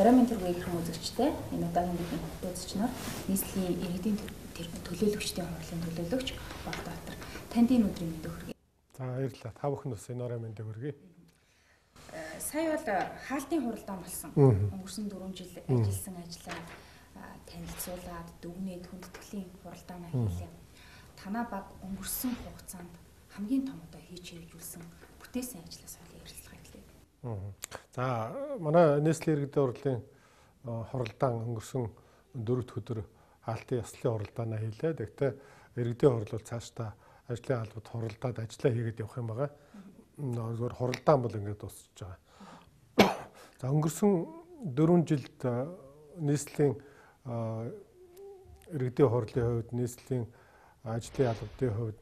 Оройн тэргүүр гэх үзэгчтэй энэ удаагийн бидний хөтөлбөрч нар нийслэлийн иргэдийн төлөөлөгчдийн хурлын төлөөлөгч Богдбаатар танд энэ өдрийн мэндийг хүргэе. За баярлалаа. Та бүхэнд бас энэ оройн мэндийг хүргэе. Сая бол хаалтын хуралдаан болсон. Өнгөрсөн 4 жил ажилласан ажлаа танилцуулаад дүгнээд хүндэтгэлийн хуралдаанаа хийлээ. Танаа баг өнгөрсөн хугацаанд хамгийн том удаа хийж хэрэгжүүлсэн бүтээсэн ажлаас хоол ярилцлага хэлээ. За манай нийслэлийн иргэдийн хурлын хуралдаан өнгөрсөн 4 өдөр хаалтын ёслолын хуралдаанаа хийлээ. Тэгэхдээ иргэдийн хурал бол цаашдаа ажлын албад хуралдаад ажиллаа хийгээд явах юм байгаа. Зөвхөн хуралдаан бол ингээд дуусчихж байгаа. За өнгөрсөн 4 жилд нийслэлийн иргэдийн хурлын хувьд, нийслэлийн ажлын албадын хувьд,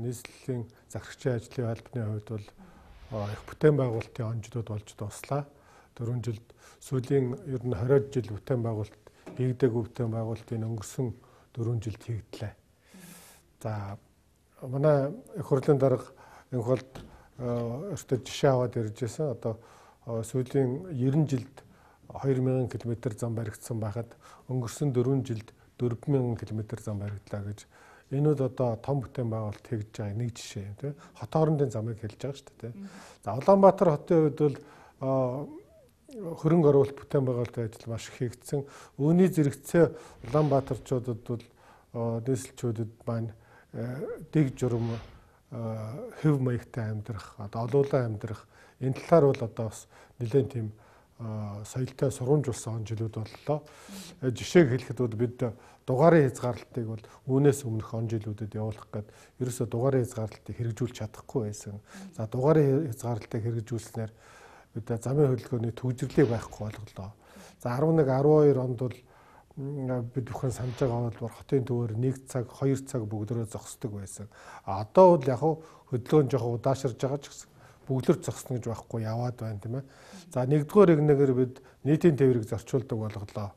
нийслэлийн захирагчийн ажлын албаны хувьд бол их бүтээн байгуулалтын онцлог болж дуслаа. 4 жилд сүүлийн ер нь 20 жил бүтээн байгуулалт хийгдээгүй бүтээн байгуулалтын өнгөрсөн 4 жилд хийгдлээ. За манай их хурлын дарга энэ холд өөртөө жишээ аваад ирж байсан. Одоо сүүлийн 90 жилд 2000 км зам баригдсан байхад өнгөрсөн 4 жилд 4000 км зам баригдлаа гэж энэ бол одоо том бүтээн байгуулалт хийж байгаа нэг жишээ юм тийм. Хот хоорондын замыг хэлж байгаа шүү дээ. За Улаанбаатар хотын хувьд бол хөрөнгө оруулалт бүтээн байгуулалтын ажил маш их хийгдсэн. Үүний зэрэгцээ Улаанбаатарчуудад бол нийслэлчүүдэд маань дэг журам хэв маягтай амьдрах, одоо олуулан амьдрах энэ талаар бол одоо бас нэлээд тийм соёлтой сургамжуулсан он жилүүд боллоо. Жишээг хэлэхэд бол бид дугаарын хязгаарлалтыг бол үүнээс өмнөх он жилүүдэд явуулах гээд ерөөсө дугаарын хязгаарлалтыг хэрэгжүүлж чадахгүй байсан. За дугаарын хязгаарлалтыг хэрэгжүүлснээр бид замын хөдөлгөөний төвжирлийг байхгүй болголоо. За 11 12 онд бол бид бүхэн санаж байгаа бол хотын төвөөр 1 цаг 2 цаг бүгдөө зогсдог байсан. Одоо бол яг хөдөлгөөн жоохон удаашрж байгаа ч гэсэн бүгдлэр зогсно гэж байхгүй яваад байна тийм ээ. За нэгдүгээр игнэгээр бид нийтийн тээврийг зарчуулдаг болголоо.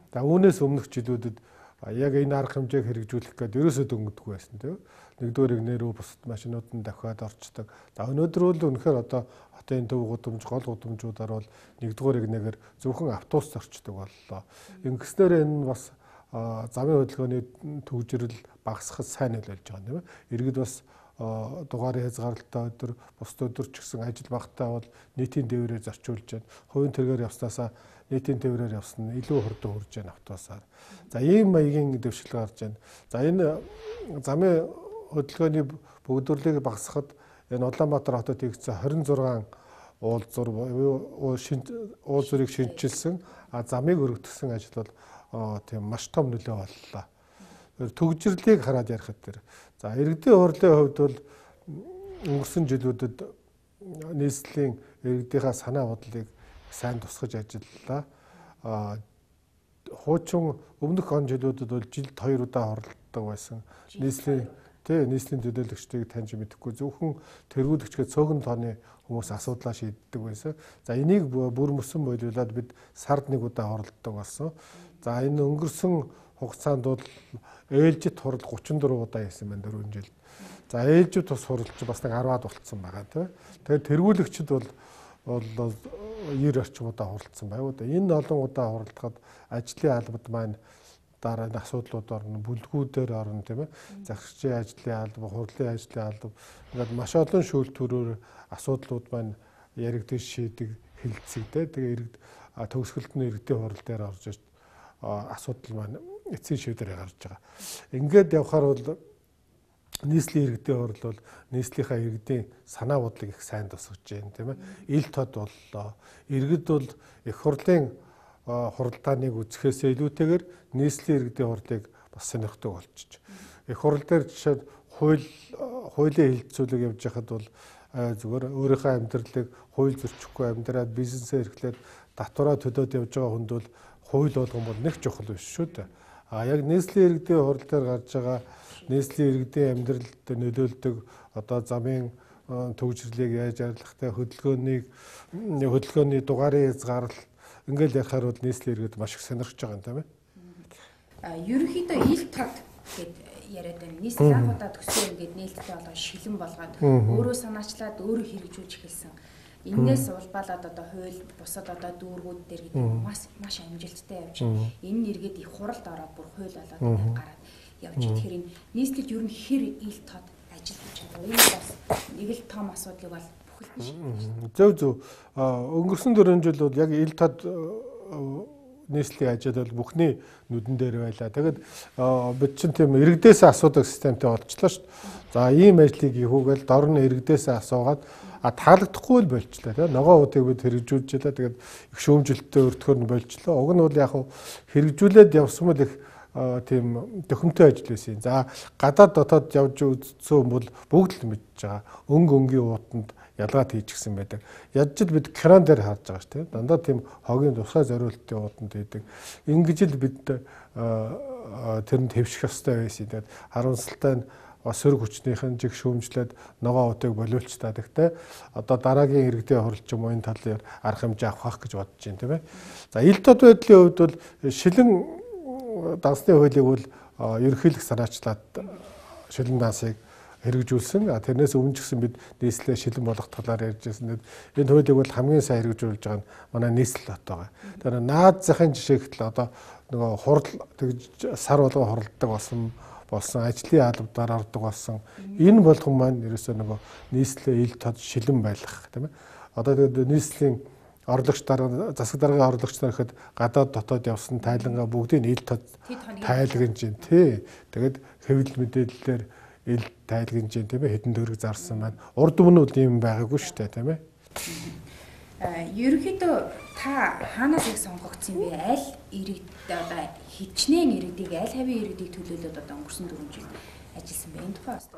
За үүнээс өмнөх жилүүдэд яг энэ арга хэмжээг хэрэгжүүлэх гээд ерөөсөө дөнгөдгүй байсан тийм ээ. Нэгдүгээр игнэрөө бусад машинууд нь дахиад орчдөг. За өнөөдөр бол үнэхээр одоо хотын төв гудамж гол гудамжуудаар бол нэгдүгээр игнэгээр зөвхөн автобус зорчдөг боллоо. Ингэснээр энэ бас замын хөдөлгөөний төвжирэл багасхад сайн нөлөөлж байгаа тийм ээ. Иргэд бас дугаарын хязгаарлалттай өдөр бусд өдөр ч гэсэн ажил багтаа бол нийтийн тээврээр зарчуулж байна. Хувийн тэргээр явснаасаа нийтийн тээврээр явсан нь илүү хурдан хүрж байна автобусаар. За ийм маягийн дэвшил гарч байна. За энэ замын хөдөлгөөний бүгдвэрлэлийг багасгахад энэ Улаанбаатар хотод хийгдсэн 26 уулзурыг шинжилсэн замыг өргөдгсөн ажил бол тийм маш том нөлөө боллоо. Төгжрлийг хараад ярихад тэр. За иргэдийн хурлын хувьд бол өнгөрсөн жилүүдэд нийслэлийн иргэдийнхаа санаа бодлыг сайн тусгаж ажиллалаа. Хуучин өмнөх он жилүүдэд бол жилд 2 удаа хорлдог байсан. Нийслэлийн төлөөлөгчдийг таньж мэдэхгүй зөвхөн тэргүүлэгчгээ цөөхөн тооны хүмүүс асуудлаа шийддэг байсан. За энийг бүр мөсөн болиулаад бид сард 1 удаа хорлдог болсон. За энэ өнгөрсөн хугацаанд бол ээлжид хурал 34 удаа хийсэн байна 4 жилд. За ээлжид тус хуралч бас нэг 10-аад болцсон байгаа тийм. Тэгээд тэргүүлэгчд бол 90 орчим удаа хуралцсан байв. Энэ олон удаа хуралдахад ажлын албад маань дараа нь асуудлууд орно, бүлгүүдээр орно тийм ээ. Захирагчийн ажлын алба, хурлын ажлын алба ингээд маш олон шүүлтүүрээр асуудлууд маань яригдж шийдэг хэлэлцэгдээ. Тэгээ төгсгөлд нь иргэдийн хурал дээр орж ирж асуудал маань эцсийн шийдвэрээр гарч байгаа. Ингээд явхаар бол нийслэлийн иргэдийн хурал бол нийслэлийнхаа иргэдийн санаа бодлыг их сайн тусгаж байна тийм ээ. Ил тод боллоо. Иргэд бол их хурлын хуралдааныг үзэхээс илүүтэйгээр нийслэлийн иргэдийн хурлыг бас сонирхдог болчих. Их хурал дээр жишээд хуулийн хилцүүлэг явж байхад бол зүгээр өөрийнхөө амьдралыг хууль зөрчихгүй амьдраад бизнесээ эрхлээд татвараа төлөөд явж байгаа хүнд бол хууль болгон бол нэг чухал биш шүү дээ. Яг нийслэлийн иргэдийн хурал дээр гарч байгаа нийслэлийн иргэдийн амьдралд нөлөөлдөг одоо замын төвжирлийг яаж арилгахтай хөдөлгөөний дугаарын хязгаарлалт ингээл ярихаар бол нийслэлийн иргэд маш их сонирхож байгаа юм тийм ээ. Ерөнхийдөө ил тод гэд яриад байна. Нийслэл анх удаа төсөө ингээд нээлттэй болоо шилэн болгоод өөрөө санаачлаад өөрөө хэрэгжүүлж эхэлсэн. Энээс улбалаад одоо хууль бусад одоо дүүргүүд дээр гэдэг маш амжилттай явж байна. Энэ иргэд их хуралд ороод бүр хууль болоод ингээд гараад явж. Тэгэхээр энэ нийслэлд ер нь хэр ил тод ажил хийж байгаа. Энэ бас нэг л том асуудлыг бол бүхэлд нь шийдэж байна. Зөв. Өнгөрсөн 4 жил бол яг ил тод нийслэлийн ажил бол бүхний нүдэн дээр байлаа. Тэгэд бид чинь тийм иргэдээсээ асуудаг системтэй болчихлоо шүү дээ. За ийм ажлыг хийхүүгээл дор нь иргэдээсээ асуугаад таалагдахгүй л болчлаа тийм ногоонуудыг бид хэрэгжүүлж байлаа. Тэгээд их шүүмжлэлттэй өртгөр нь болчлоо. Уг нь бол яг хэрэгжүүлээд явсан бол их тийм төхөмтэй ажил байсан. За гадаад дотоод явж үзсэн бол бүгд л мэдж байгаа. Өнгийн уутанд ялгаад хийчихсэн байдаг. Ядчил бид кран дээр харж байгаа шүү тийм. Дандаа тийм хогийн тусгай зориултын уутанд хийдэг. Ингэж л бид тэрэнд хэвших ёстой байсан. Тэгээд харамсалтай нь сөрөг хүчнийхэн жиг шүүмжлээд ногоон утыг болиулч та гэхдээ одоо дараагийн иргэдийн хуралч юм уу энэ талын арга хэмжээ авах гэж бодож байна тийм ээ. За ил тод байдлын хувьд бол шилэн дансны хуулийг бол ерөнхийлөх санаачлаад шилэн дансыг хэрэгжүүлсэн. Тэрнээс өмнө ч гэсэн бид нийслэлээ шилэн болгох талаар ярьж байсан. Энэ хуулийг бол хамгийн сайн хэрэгжүүлж байгаа нь манай нийслэл бот байгаа. Тэр наад захын жишээ гэтэл одоо нөгөө хурал тэгж сар болгон хуралддаг болсон ажлын албадаар ордог болсон. Энэ болгон маань ерөөсөө нөгөө нийслэлээ ил тод шилэн байлгах тийм ээ. Одоо тэгээд нийслэлийн орлогч дарга засаг даргын орлогч нар ихэд гадаад дотоод явсан тайлангаа бүгдийг ил тод тайлгнаж байна тий. Тэгээд хэвлэл мэдээллээр ил тайлгнаж байна тийм ээ. Хэдэн төгрөг зарсан маань урд өмнө бол юм байгаагүй шүү дээ тийм ээ. Ерөнхийдөө та хаанаас их сонгогдсон бэ? Аль иргэд одоо хичнээн иргэдийг аль хавийн иргэдийг төлөөлөд одоо өнгөрсөн 4 жил ажилласан бэ? Энэ тухай бас.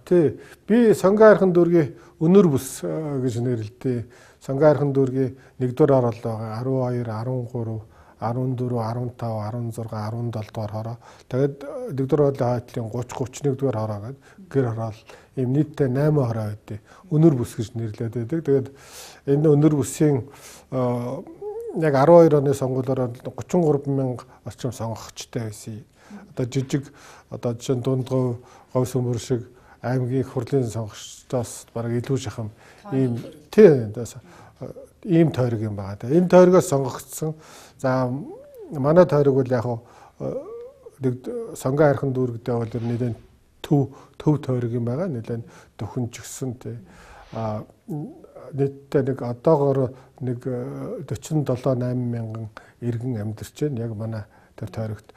Тий. Би Сонгон хайрхан дүүргийн өнөр бүс гэж нэрлэдэг. Сонгон хайрхан дүүргийн 1-р орол байгаа 12, 13, 14, 15, 16, 17 дугаар хороо. Тэгээд 1-р орлын хойтлын 30, 31-р хороо гэдэг гэр хороол ийм нийтдээ 8 хороо байдیں۔ Өнөр бүс гэж нэрлэдэг байдаг. Тэгээд энэ өнөр бүсийн яг 12 оны сонгуулиороо 33,000 орчим сонгогчтой байсан. Одоо жижиг одоо жишээ нь дундгой говь сөмбөр шиг аймгийн их хурлын сонгогчдоос бараг илүү шахам ийм ийм тойрог юм байгаа. Энэ тойрогоос сонгогдсон. За манай тойрог бол яг Сонгон хайрхан дүүрэгдээ бол нэлээд төв тойрог юм байгаа. Нэлээд төхөнжгсөн тий. Нийтдээ нэг одоогоор нэг 47-8 мянган иргэн амьдарч байна. Яг манай тэр тойрогт.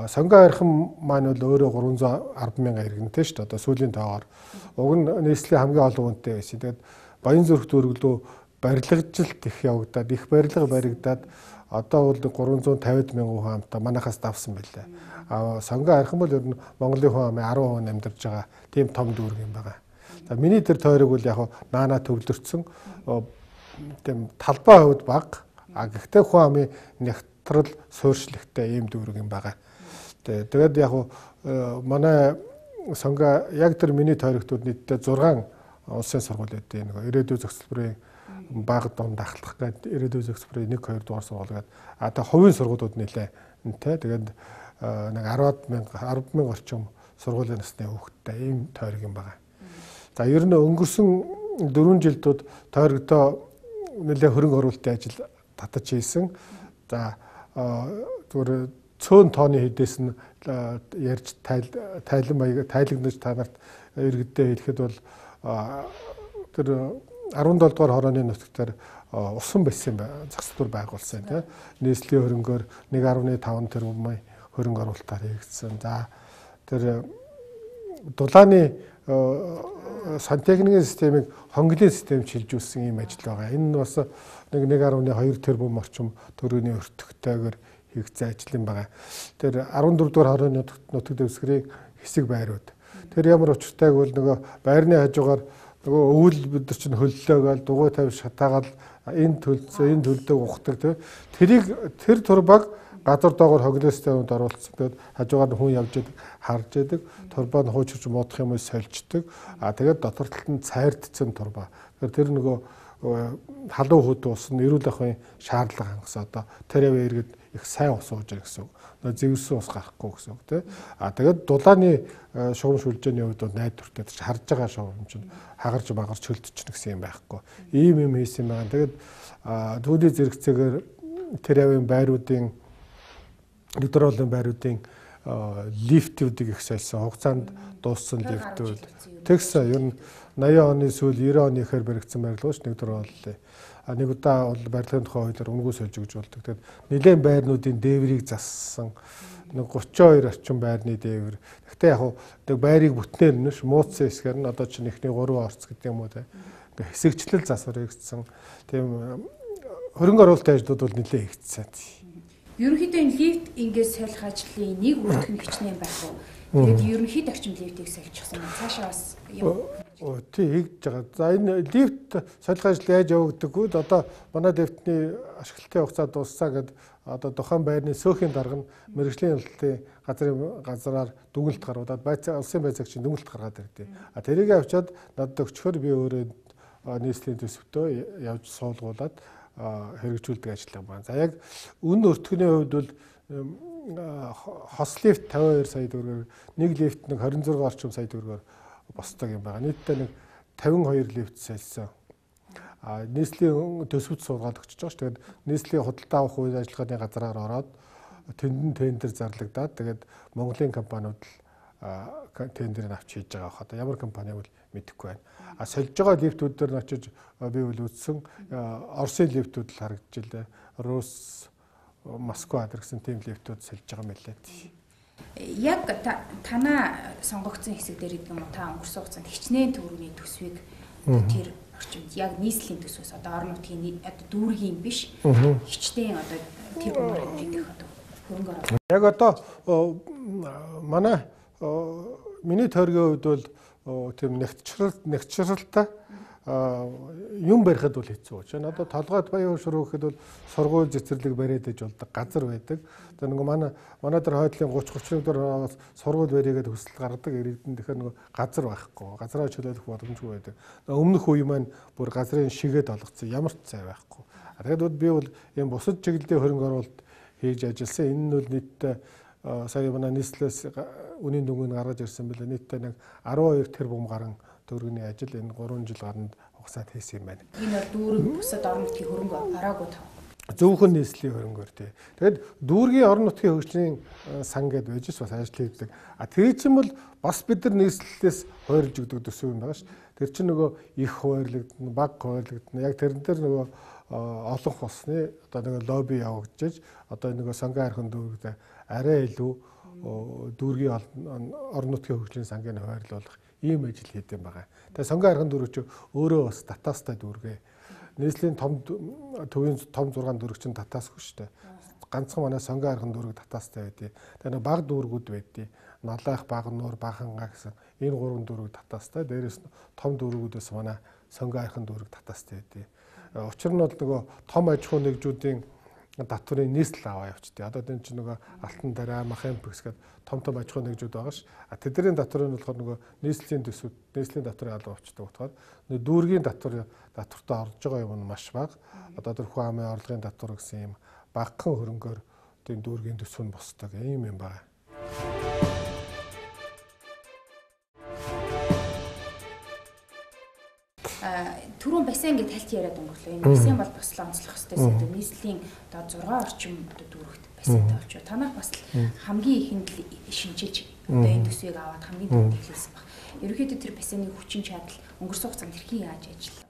Сонгон хайрхан маань бол өөрөө 310 мянган иргэнтэй шүү дээ. Одоо сүүлийн тоогоор. Уг нь нийслэлийн хамгийн олон хүнтэй байсан. Тэгээд Баянзүрх дүүрэг лөө барилгажилт их явагдаад их барилга баригдаад одоо бол 350 мянган хүн амтаа манайхаас давсан байлаа. Сонгон хайрхан бол ер нь Монголын хүн амын 10% амьдарч байгаа тийм том дүүрэг юм байна. За миний тэр тойрог бол яг наана төвлөрсөн тийм талбай хувьд бага. Гэхдээ хүн амын нягтрал суурьшлагтай ийм дүүрэг юм байна. Тэгээд яг манай сонгон яг тэр миний тойрогтууд нийтдээ 6 улсын сургууль өгдөө нэг ирээдүйн зөвлөмжийн баг дунд ахлах гэдэг ирээдүйн зөвлөмжийн 1-2 дугаар сургууль гэдэг. Одоо хувийн сургуулиуд нэлээ үнэтэй. Тэгээд нэг 10,000 орчим сургуулийн насны хүүхэдтэй ийм тойрог юм байна. За ер нь өнгөрсөн 4 жилдүүд тойрогдоо нэлээ хөрөнгө оруулалтын ажил татаж хийсэн. За зүгээр цөөн тооны хэдээс нь ярьж тайлагнаж та нарт иргэддээ хэлэхэд бол тэр 17 дугаар хорооны нутагтаар усан байсан засвар байгуулсан тийм нийслэлийн хөрөнгөөр 1.5 тэрбум хөрөнгө оруулалтаар хийгдсэн. За тэр дулааны сантехникийн системийг хонглын системд шилжүүлсэн ийм ажил байгаа. Энэ нь бас 1.2 тэрбум орчим төгрөгийн өртөгтэйгээр хийгдсэн ажил юм байна. Тэр 14 дугаар хорооны нутаг дэвсгэрийн хэсэг байрууд. Тэр ямар учиртайг бол нөгөө байрны хажуугаар нөгөө өвөл бид нар чинь хөллөөгээл дугуй тавь шатаагаал энэ төлдөг ухдаг тийм. Тэр турбаг газар доогоор хонглын системд оруулсан. Тэгээд хажуугаар нь хүн явж идэг, харж идэг. Турбаа нь хуучирч муудах юм уу сольждаг. Тэгээд дотор талд нь цайрдсан турбаа. Тэр нөгөө халуун хөд ус нь эрүүл ахуйн шаардлага хангасан одоо Тэрэвэ иргэд их сайн ус ууж байгаа гэсэн үг. Зэвссэн ус гарахгүй гэсэн үг тийм. Тэгээд дулааны шугам шүлжээний хувьд бол найдвартай харж байгаа шугам чинь хагарч магарч хөлдчихнэ гэсэн юм байхгүй. Ийм юм хийсэн байгаа. Тэгээд түүний зэрэгцээгээр Тэрэвэгийн байруудын өдрөөлөн байруудын лифтүүдийг их сольсон хугацаанд дууссан лифтүүд тэгсэн ер нь 80 оны сүүл 90 оны ихэр баригдсан барилгууч нэг дөрөв боллоо. Нэг удаа бол барилгын тухай хуулиар үнгүй сольж өгч болдог. Тэгээд нэлээд байрнуудын дээврийг зассан. Нэг 32 орчим байрны дээвэр. Гэхдээ яг нэг байрыг бүтнээр нь мууцсан хэсгээр нь одоо чинь ихний 3 орц гэдэг юм уу те. Ингээ хэсэгчлэл засвар хийгдсэн. Тийм хөрөнгө оруулалтын ажлууд бол нэлээд хийгдсэн. Ерөнхийдөө энэ лифт ингээд солих ажлын нэг үрдэх нь хичнээн байх уу? Тэгээд ерөнхийд орчим лифтийг соличихсан юм. Цаашаа бас тий хийгдэж байгаа. За энэ лифт солих ажил яаж явагдаггүй л одоо манай лифтний ашиглалтын хугацаа дууссан гэд одоо тухайн байрны сөөхийн дарга нь мэрэгжлийн ялалтын газраар дүгнэлт гаргуулад улсын байцаагчийн дүгнэлт гаргаад ирдээ. Тэрийг авчиад надад өгчхөөр би өөрөө нийслэлийн төсөвтөө явж суулгуулад хэрэгжүүлдэг ажиллагаа байна. За яг үнэ өртгөний хувьд бол хос лифт 52 сая төгрөгөөр нэг лифт нэг 26 орчим сая төгрөгөөр босдог юм байна. Нийтдээ нэг 52 лифт сольсон. Нийслэлийн төсөвт суулгаад өгч байгаа ш. Тэгээд нийслэлийн худалдаа авах үйл ажиллагааны газраар ороод тэнд тендер зарлагдаад тэгээд Монголын компаниуд л тендерийг авч хийж байгаа. Одоо ямар компани бол мэдэхгүй байна. Сольж байгаа лифтүүд дээр нь очиж би бол үзсэн Оросын лифтүүд л харагдж илээ. Рус, Москва гэсэн тийм лифтүүд сольж байгаа мэлээ. Яг танаа сонгогдсон хэсэг дээр гэдэг юм уу та өнгөрсөн хугацаанд хичнээн төгрөгийн төсвийг тэр орчимд яг нийслэлийн төсвөөс одоо орон нутгийн одоо дүүргийн биш хичнээн одоо тэр бумаар хэмжээх одоо хөрөнгө оруулалт. Яг одоо манай миний тойргийн хувьд бол тийм нэгтчралтай юм барихад бол хэцүү. Жишээ нь одоо толгойд баян шуруу гэхэд бол сургууль цэцэрлэг бариад иж болдог газар байдаг. Одоо нэг манай дээр хойдлын 30-31 дор сургууль бариагээд хүсэл гаргадаг иргэдэн тэгэхээр нэг газар байхгүй. Газраа чөлөөлөх боломжгүй байдаг. Өмнөх үе маань бүр газрын шигээд олгоцсон ямар ч цай байхгүй. Тэгэхээр би бол ийм бусад чиглэлийн хөрөнгө оруулалт хийж ажилласан. Энэ нь бол нийтдээ сая манай нийслэлээс үнийн дүнгийн гаргаж ирсэн билээ. Нийтдээ нэг 12 тэрбум гаруй төгрөгийн ажил энэ 3 жил гаранд хугацаанд хийсэн юм байна. Энэ бол дүүрэг бусад орон нутгийн хөрөнгө ороогүй тав. Зөвхөн нийслэлийн хөрөнгөөр тий. Тэгээд дүүргийн орон нутгийн хөгжлийн сан гэдээ байж бас ажил хийдэг. Тэр чинь бол бас бид нар нийслэлээс хойрлж өгдөг төсөв юм байгаа ш. Тэр чинь нөгөө их хойрлогдно, баг хойрлогдно. Яг тэрэн дээр нөгөө олон хосны одоо нэг лобби явагдаж одоо нөгөө сонгон архин дүүрэгт арай илүү дүүргийн орон нутгийн хөгжлийн сангийн хойрлуулах ийм ажил хийдэг юм байгаа. Тэгээ сонгон архин дүүрэг чи өөрөө бас татаастай дүүргээ. Нийслэлийн том төвийн том 6 дүүрэг чинь татаасгүй шүү дээ. Ганцхан манай сонгон архин дүүрэг татаастай байдیں۔ Тэгээ баг дүүргүүд байдیں۔ Налайх, Багнуур, Баханга гэсэн энэ 3 дүүрэг татаастай. Дээрээс нь том дүүргүүдээс манай сонгон архин дүүрэг татаастай байдیں۔ Учир нь бол нөгөө том аж ахуй нэгжүүдийн татврын нийслэл аваа явчихдээ. Одоо энэ чинь нөгөө Алтан дараа, Махампекс гэдэг том аж ахуй нэгжүүд байгаа ш. Тэдний татвар нь болохоор нөгөө нийслэлийн төсвүүд, нийслэлийн татврын алба авчдаг утгаар дүүргийн татвартаа орж байгаа юм нь маш бага. Одоо тэр хүн амын орлогын татвар гэсэн юм багахан хөрөнгөөр тийм дүүргийн төсөв нь босдог юм байна. Түрүүн бассейн гэж тальт яриад өнгөрлөө. Энэ бассейн бол бас л онцлох хэвээр нийслэлийн одоо 6 орчим одоо дүүрэгт бассейнтай болчих. Танах бас хамгийн ихэнд шинжилж одоо энэ төсвийг аваад хамгийн түрүүнд эхлүүлсэн баг. Ерөнхийдөө тэр бассейны хүчин чадал өнгөрсөн хугацаанд хэрхэн яаж ажиллав?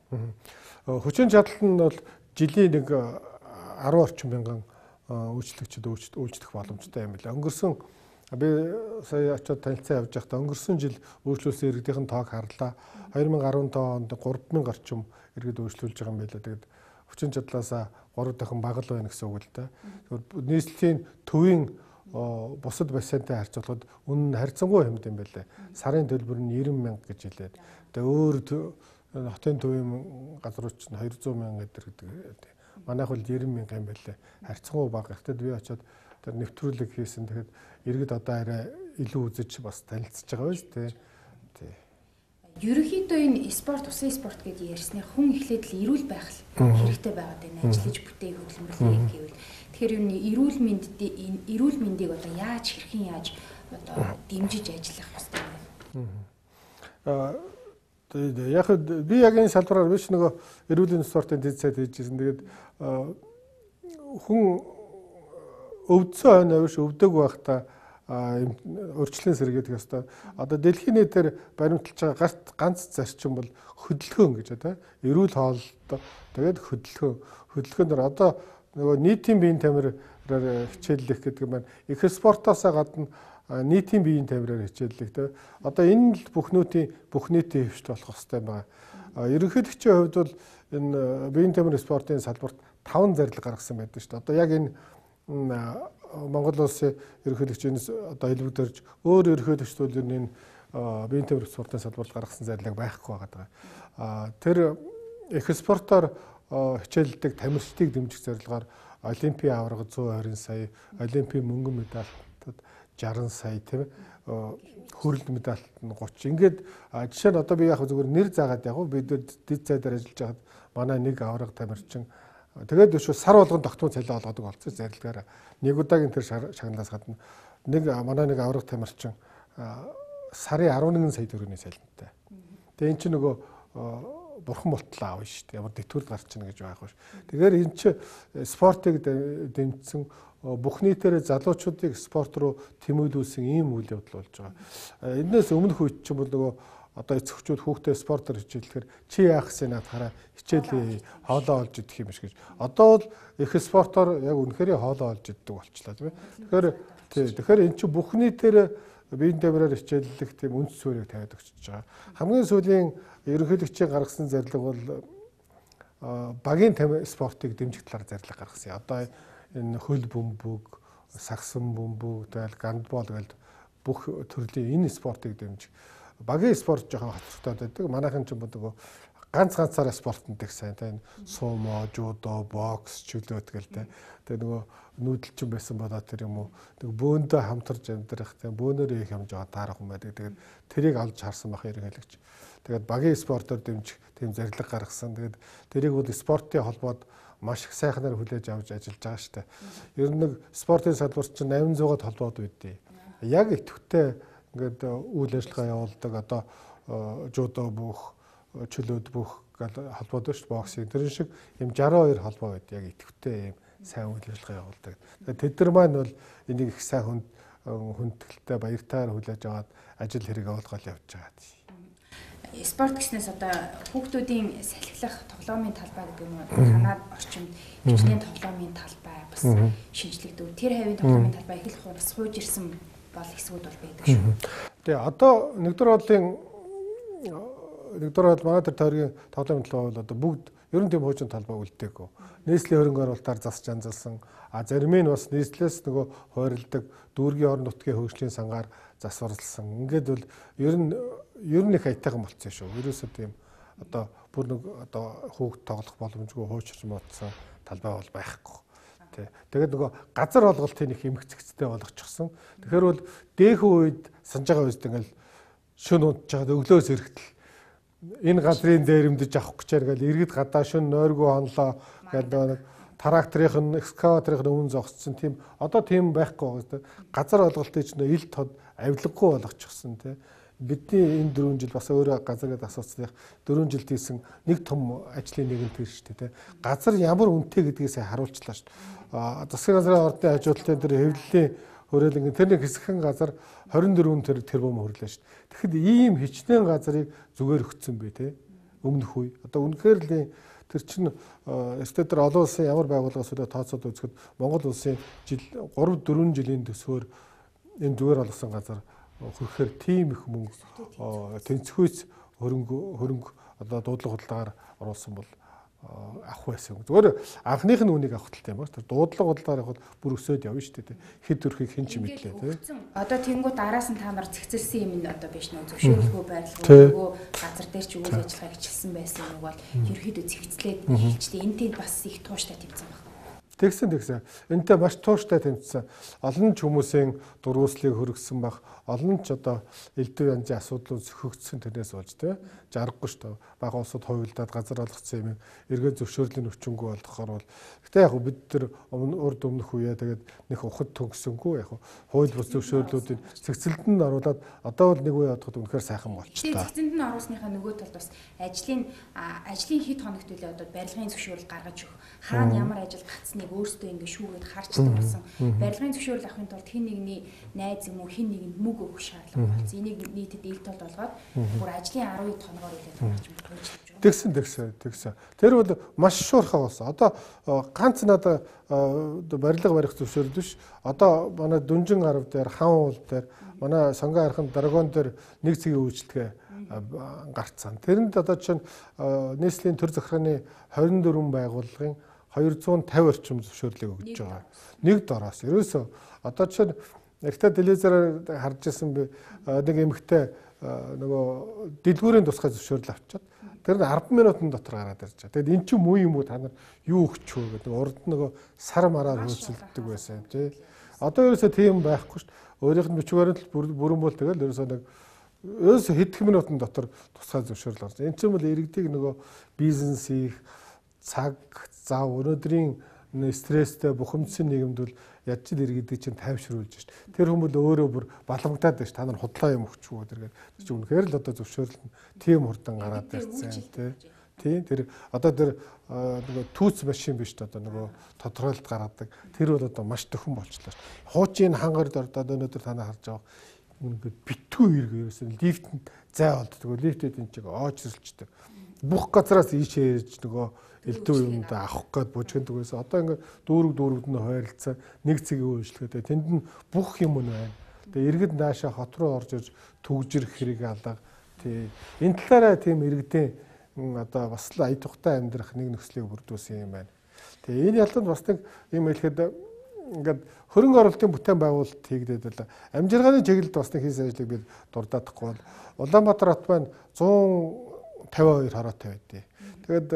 Хүчин чадал нь бол жилийн нэг 10 орчим мянган үйлчлэгчид үйлчлэх боломжтой юм байна. Өнгөрсөн би сая очиод танилцан явж байхдаа өнгөрсөн жил үйлчлүүлсэн иргэдийн тоог харлаа. 2015 онд 3000 орчим иргэд үйлчлүүлж байгаа юм байлаа. Тэгээд хүчин чадлаасаа 3 дахин бага л байна гэсэн үг л да. Нийслэлийн төвийн бусад бассейнтай харьцуулахад үнэ нь харьцангуй хэмт юм байлаа. Сарын төлбөр нь 90,000 гэж хэлээд. Тэгээд өөр хотын төвийн газрууд чинь 200,000 гэдэг. Манайх бол 90,000 юм байлаа. Харьцангуй бага. Гэхдээ би очиод тэр нэвтрүүлэг хийсэн. Тэгэхээр иргэд одоо арай илүү үзэж бас танилцж байгаа биз дээ. Ерөнхийдөө энэ спорт, усан спорт гэдээ ярьсны хүн эхлээд л эрүүл байх хэрэгтэй байгаад байна. Ажиллаж бүтээх хөдөлмөрлөе гэвэл тэгэхээр юу нэг эрүүл мэндийг одоо яаж хэрхэн яаж одоо дэмжиж ажиллах хэрэгтэй вэ? Яг би яг энэ салбараар биш нөгөө эрүүл мэндийн спортын дэд сайд хийжсэн. Тэгээд хүн өвдсөн хойно биш өвдөг байхдаа урьдчилан сэргээдэг ёстой. Одоо дэлхийн нийтээр баримталж байгаа ганц зарчим бол хөдөлгөөн гэж байна. Эрүүл хооллолт тэгээд хөдөлгөөнөр одоо нөгөө нийтийн биеийн тамираар хичээллэх гэдэг нь их спортоос гадна нийтийн биеийн тамираар хичээллэх тэ. Одоо энэ л бүх нийтийн хөвшт болох хэрэгтэй байгаа. Ерөнхийлөгчийн хувьд бол энэ биеийн тамир спортын салбарт 5 зарлиг гаргасан байдаг шүү дээ. Одоо яг энэ Монгол улсын ерөнхийлөгчнөөс одоо хэлбэгдэрж өөр ерөнхийлөгчд бол энэ биеийн тамир спортын салбарт гаргасан зарлиг байхгүй байгаа. Тэр их спортоор хичээлдэг тамирчдыг дэмжих зорилгоор Олимпийн аварга 120 сая, Олимпийн мөнгөн медальтад 60 сая тийм хөрөлд медальт нь 30. Ингээд жишээ нь одоо би яг зүгээр нэр заагаад яг бид дэд сайдаар ажиллаж байхад манай нэг аварга тамирчин тэгээд өшөө сар болгон тогтмол цалин олгодог болсон зарилгаараа. Нэг удаагийн тэр шагналаас гадна манай нэг аврах тамирчин сарын 11 сая төгрөгийн цалинтай. Тэгээ эн чинь нөгөө бурхан болтлоо аав шүү дээ. Ямар дэвтгүрд гарч ийн гэж байхгүй ш. Тэгэхээр эн чинь спортыг дэмжсэн бүх нийтээр залуучуудыг спорт руу тэмүүлүүлсэн ийм үйл явдал болж байгаа. Энээс өмнөх үед чинь бол нөгөө одоо эцэгчүүд хүүхдээ спортоор хичээлэхээр чи яах гэсэн над хараа хичээлээ хоолоо олж идэх юм биш гэж. Одоо бол их спортоор яг үнэхээр хоолоо олж иддэг болчлаа тийм ээ. Тэгэхээр эн чинь бүх нийтээр биеийн тамираар хичээллэх тийм үндэс суурийг тавиад өгч байгаа. Хамгийн сүүлийн ерөнхийлөгчийн гаргасан зарлиг бол багийн спортыг дэмжих талаар зарлиг гаргасан. Одоо энэ хөл бөмбөг, сагсан бөмбөг, тэгэл гандбол гэдэг бүх төрлийн энэ спортыг дэмжих. Багийн спорт жоохон хоцрогдоод байдаг. Манайхан ч нөгөө ганцаараа спортод их сайн. Тэгээ сумо, жудо, бокс, чөлөө тэгэл тэ. Тэгээ нөгөө нүүдэлчин байсан болоод тэр юм уу. Нөгөө бөөндөө хамтарч амьдрах, тэгээ бөөнөрөө их хэмж байгаа таарах юм байдаг. Тэгээд тэрийг олж харсан бах ерөнхийлөгч. Тэгээд багийн спортоор дэмжих тийм зарлиг гаргасан. Тэгээд тэрийг бол спортын холбоод маш их сайхнаар хүлээж авч ажиллаж байгаа шүү дээ. Ер нь нэг спортын салбарт чинь 800-аад холбоод үүдээ. Яг идэвхтэй ингээд үйл ажиллагаа явуулдаг одоо жудо бүх чөлөөд бүх холбоод шүү дээ боксинг тэр шиг юм 62 холбоо байд яг идэвхтэй юм сайн үйл ажиллагаа явуулдаг. Тэд нар маань бол энийг их сайн хүндэтгэлтэй баяртайгаар хүлээж аваад ажил хэрэг явуулгал явж байгаа. Спорт гэснээс одоо хүүхдүүдийн салхилах тоглоомын талбай гэдэг юм уу танаад орчимд хичнээн тоглоомын талбай бас шинжлэгдэв. Тэр хавийн тоглоомын талбай их л бас хууж ирсэн бол хэсгүүд бол байдаг шүү. Тэгээ одоо нэгдүгээр бол манай тэр тойргийн тоглоомын талбай бол одоо бүгд ер нь тийм хуужин талбай үлдээгүй. Нийслэлийн хөрөнгө оруулалтаар засч анзалсан. Зарим нь бас нийслэлээс нөгөө хойролдог дүүргийн орон нутгийн хөгжлийн сангаар засварлсан. Ингээд бол ер нь их аятайхан болцсон шүү. Ерөөсөө тийм одоо бүр нэг одоо хүүхд тоглох боломжгүй хуучирч модсон талбай бол байхгүй. Тэгээд нөгөө газар олголтын их эмгцэгцтэй болгочихсон. Тэгэхээр бол дээхэн үед санаж байгаа үед ингээл шүн унтж байгаа өглөөс эрэхтэл энэ газрын дээрэмдэж авах гэж байгаа иргэд гадаа шүн нойргүй хонлоо гэдэг нэг тракторын экскаваторын өмнө зогссон тийм одоо тийм байхгүй байгаа. Газар олголтыг ч нөө ил тод авилгагүй болгочихсон тийм. Бидний энэ 4 жил бас өөрөө газар гэдэг асууцлах 4 жилд хийсэн нэг том ажлын нэгэн тэр шүү дээ. Газар ямар үнэтэй гэдгээс харуулчлаа шүү. Засгийн газрын ордны хажуудлын тэр хэвлэлийн хөрөөлөнгө тэр нэг хэсэгхэн газар 24 тэрбум хөрлөө шүү. Тэгэхэд ийм хичнээн газрыг зүгээр өгцөн бэ те. Өмнөх үе. Одоо үнэхээр л тэр чинь статер олон улсын ямар байгууллагаас үлээ тооцоод үзэхэд Монгол улсын жил 3-4 жилийн төсвөр энэ зүгээр олгосон газар хөрөхээр тийм их мөнгө тэнцвүүц хөрөнгө одоо дуудлага худалдаагаар оруулсан бол авах байсан. Зүгээр анхных нь үнийг авах талтай юм байна. Тэр дуудлага худалдаагаар явахад бүр өсөөд явна шүү дээ. Хэд төрхийг хэн ч мэдлээ тий. Одоо тэнгууд араас нь та нар зэгцэлсэн юм нь одоо биш нөө зөвшөөрөлгүй байрлалгүй газар дээр ч үйл ажиллагаа хичилсэн байсан нэг бол ерөөхдөө зэгцлээд хэлжтэй энэ тэнд бас их тууштай тавьсан байна. Тэгсэн. Энтэй маш тууштай тэмцсэн. Олон ч хүмүүсийн дурууслыг хөргсөн баг. Олон ч одоо элдв янзын асуудлууд зөхөгдсөн тэрнээс болж тий. Жаргагүй шүү дээ. Бага улсууд хувилдаад газар олгоцсон юм. Эргээд зөвшөөрлийн өвчнгүй болохоор бол гэтээ яг бид тэр урд өмнөх үеэ тэгээд нэг ухад төгсөнгүү яг хууль бус зөвшөөрлүүдийг цэгцэлд нь оруулаад одоо бол нэг үе бодоход үнэхээр сайхан болчихлоо. Цэгцэлд нь оруулсныхаа нөгөө талд бас ажлын хэд хоногт үлээ одоо барилгын зөвшөөрөл гаргаж өгөх. Хаана ямар ажил гацсныг өөрсдөө ингэ шүүгээд харчдаг болсон. Барилгын зөвшөөрөл авахын тулд хэн нэгний найз юм уу хэн нэгэнд мөнгө өгөх шаардлага болсон. Энийг нийтэд ил тод болгоод бүр ажлын 12 хоногоор үлээ гаргаж өгөх. Тэгсэн. Тэр бол маш шуурхай болсон. Одоо ганц надад барилга барих зөвшөөрөл биш. Одоо манай Дүнжин гарав дээр, Хан уул дээр, манай Сонгон архын Драгон дээр нэг цэгийн үйлчлэгээ гарцсан. Тэрэнд одоо чинь нийслэлийн төр захиргааны 24 байгууллагын 250 орчим зөвшөөрлийг өгж байгаа. Нэг дороос. Ерөөсөө одоо чинь ихтэй телевизээр харж ирсэн би нэг эмэгтэй нөгөө дэлгүүрийн тусгай зөвшөөрөл авчиад тэр 10 минутын дотор гараад ирж байгаа. Тэгэд эн чинь муу юм уу та нар юу өгч вэ гэдэг урд нөгөө сар мараар хөөцөлддөг байсан тий. Одоо ерөөсөө тийм байхгүй шүү дээ. Өөрийнх нь бичвэрээр л бүрэн бол тэгэл ерөөсөө хэдхэн минутын дотор тусгай зөвшөөрөл гарч. Эн чинь бол иргэдийг нөгөө бизнес хийх цаг зав өнөөдрийн стресстэй бухимдсан нийгэмд бол ядч иргэдэг чинь тайвшруулж шít. Тэр хүмүүс өөрөө бүр баламгтаад байна ш. Та нар худлаа юм өгчгүй гэдэг. Тэр чинь үнэхээр л одоо зөвшөөрөл нь тийм хурдан гараад ирсэн тий. Тэр одоо тэр нөгөө түүц машин биш одоо нөгөө тодорхойлт гаргадаг. Тэр бол одоо маш төхөн болчлоо ш. Хуучин хангард ордод өнөөдөр та нар харж байгаа ингээд битгүү ирг ерөөсөн лифтэнд зай болддог. Лифтэд энэ чиг оочролчдөг. Бүх газараас ийшээ ирж нөгөө элдв юмд авах гээд бужигддаг байсан. Одоо ингээд дүүрэг нь хойролцоо нэг цэгийн үйлчлэгээ. Тэнд нь бүх юм байна. Тэгээ иргэд наашаа хот руу орж ирж төгжрөх хэрэг алга. Тий. Энэ талаараа тийм иргэдийн одоо бас л ая тухтай амьдрах нэг нөхцөлийг бүрдүүлсэн юм байна. Тэгээ энэ ялтанд бас нэг юм хэлэхэд ингээд хөрөнгө оруулалтын бүтээн байгуулалт хийгдээд байлаа. Амжиргааны чиглэлд бас нэг хийсэн ажлыг бид дурдаахгүй бол Улаанбаатар хот маань 152 хороотой байдیں۔ Тэгээд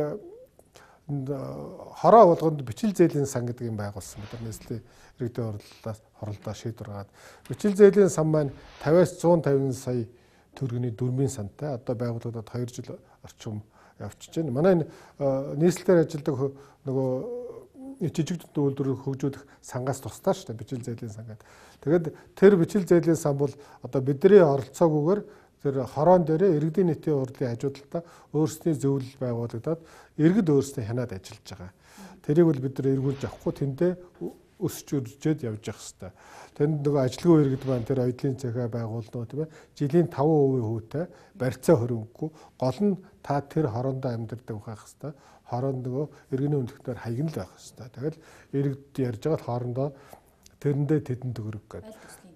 хороо болгонд бичил зээлийн сан гэдэг юм байгуулсан. Нийслэлийн иргэдийн хоролдоо шийдвэр гаргаад бичил зээлийн сан маань 50-аас 150 сая төгрөгийн дөрмийн сантай одоо байгуулагдаад 2 жил орчим явчихж байна. Манай нийслэлээр ажилладаг нөгөө жижиг үйлдвэрийг хөгжүүлэх сангаас тусдаа шүү дээ бичил зээлийн сан гэдэг. Тэгээд тэр бичил зээлийн сан бол одоо бидний оролцоогүйгээр тэр хороон дээрээ иргэдийн нийтийн урлагийн хажуудалтаа өөрсдийн зөвлөл байгуулагдаад иргэд өөрсдөө хянаад ажиллаж байгаа. Тэрийг бол бид нар эргүүлж авахгүй тэндээ өсч үржээд явж явах хэрэгтэй. Тэнд нөгөө ажилгүй иргэд маань тэр оюутлын цахиа байгуулнаа тийм ээ. Жилийн 5% хүүтэй барьцаа хөрөнгөгүй гол нь та тэр хороондоо амьдардаг байх хэрэгтэй. Хороонд нөгөө иргэний өндөгтөөр хаягн л байх хэрэгтэй. Тэгэл иргэд ярьж байгаа хоорондоо тэрэндээ тэдэн төгрөг гэдэг.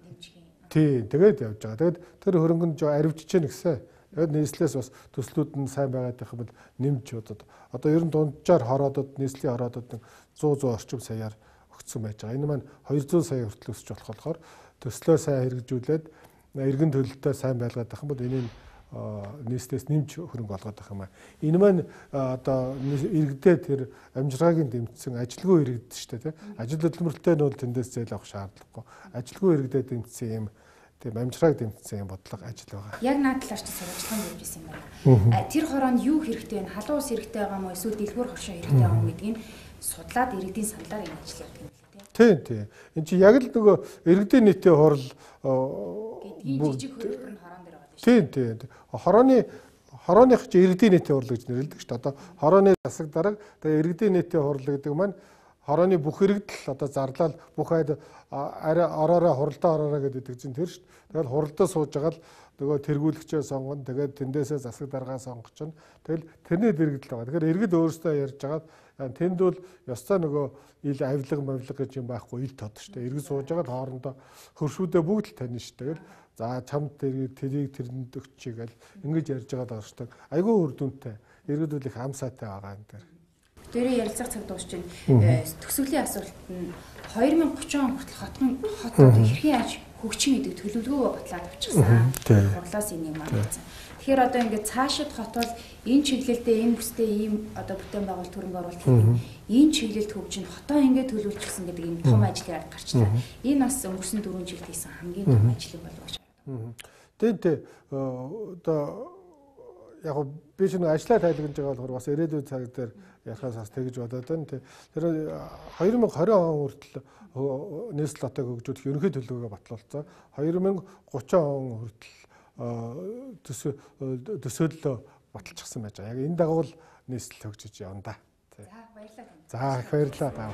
Тий, тэгээд явж байгаа. Тэгээд тэр хөрөнгөнд аривжиж гэнэ гэсэн. Тэгээд нийслэлээс бас төслүүд нь сайн байгаад байх юм бол нэмж одоо ер нь дунджаар хороодод нийслэлийн хороодод 100 орчим саяар өгсөн байж байгаа. Энэ маань 200 сая хүртэл өсч болохоор төслөө сайн хэрэгжүүлээд иргэн төлөлтөө сайн байлгаад байх юм бол энийг нийслэлээс нэмж хөрөнгө олгоод байх юм аа. Энэ маань одоо иргэдээ тэр амжиргаагийн дэмжсэн ажилгүй иргэд шүү дээ тийм. Ажил хөдөлмөрлөлтөө нь бол тэндээс зээл авах шаардлагагүй. Ажилгүй иргэдээ дэмжсэн юм тийм амжиргааг дэмжсэн юм бодлого ажил байгаа. Яг наад талаар ч сурвалжлан дэмжсэн юм байна. Тэр хороонд юу хэрэгтэй вэ? Халуун ус хэрэгтэй байгаа мó эсвэл дэлгүүр хошоо хэрэгтэй байгаа мó гэдгийг судлаад иргэдийн саналаар энэ ажил явдаг юм байна тийм. Тийм. Энд чи яг л нөгөө иргэдийн нийтийн хурал гэдгийг жижиг хөлбөр нь хороон дээр байгаа шүү. Тийм. Хорооных чи иргэдийн нийтийн хурал гэж нэрлэдэг шүү дээ. Одоо хорооны засаг дарга тэгээ иргэдийн нийтийн хурал гэдэг маань хорооны бүх иргэдэл одоо зарлал бүх айд ороороо хуралдаа ороороо гэдэг чинь тэр шүү дээ. Тэгэл хуралдаа сууж байгаа л нөгөө тэргүүлэгчээ сонгоно. Тэгээд тэндээсээ засаг даргаа сонгоч. Тэгэл тэрний дэргэдэл байгаа. Тэгэхээр иргэд өөрсдөө ярьж байгаад тэнд бол ёстой нөгөө ил авилга гэж юм байхгүй ил тод шүү дээ. Иргэд сууж байгаад хоорондоо хөршүүдээ бүгд л тань шүү дээ. За чамд тэрийг тэрэнд өгчий гэл ингэж ярьж байгаа даа. Айгүй үр дүнтэй. Иргэд бол их амсаатай байгаа энэ төр. Дээрээ ярилцах цаг дуусч байна. Төсөвлийн асуулт нь 2030 он хүртэл хотын хэрхэн яаж хөгжим гэдэг төлөвлөгөөгөө батлаад авчихсан. Хурлаас энийг маань. Тэгэхээр одоо ингээд цаашид хотвол энэ чиглэлдээ энэ бүстэй ийм одоо бүтээн байгуул төрөнгө оруулалт хийх. Энэ чиглэлд хөгжин хотоо ингээд төлөвлөчихсөн гэдэг ийм том ажлын арга гарчлаа. Энэ бас өнгөрсөн 4 жилд хийсэн хамгийн том ажил болов гэж байна. Тэгээд одоо яг би ч нэг ажлаа тайлагнаж байгаа болохоор бас ирээдүйн цаг дээр ярихаас бас тэгж бодоод байна. Тэр 2020 он хүртэл нийслэл хотыг хөгжүүлэх ерөнхий төлөвлөгөө батлуулсан. 2030 он хүртэл төсөөллөө баталчихсан байж байгаа. Яг энэ дагуу л нийслэл хөгжиж явна да. За баярлалаа. За их баярлалаа.